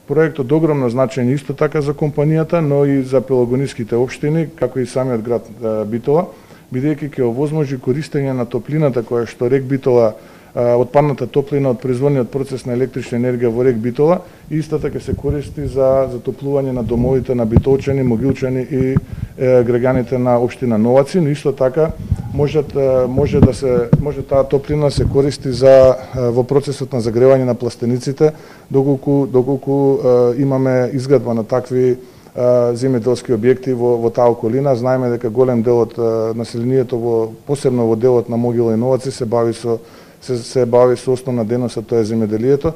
Проектот огромно значење исто така за компанијата, но и за пелагониските општини, како и самиот град Битола, бидејќи ќе овозможи користење на топлината која што рек Битола, отпадната топлина од производниот процес на електрична енергија во рек Битола, истата ќе се користи за затоплување на домовите на битолчани, могилчани и граѓаните на општина Новаци, но исто така може таа топлина се користи за во процесот на загревање на пластениците, доколку имаме изградба на такви земјоделски објекти во таа околина. Знаеме дека голем дел од населението посебно во делот на Могила и Новаци се бави со основна дејност, тоа е земјоделието.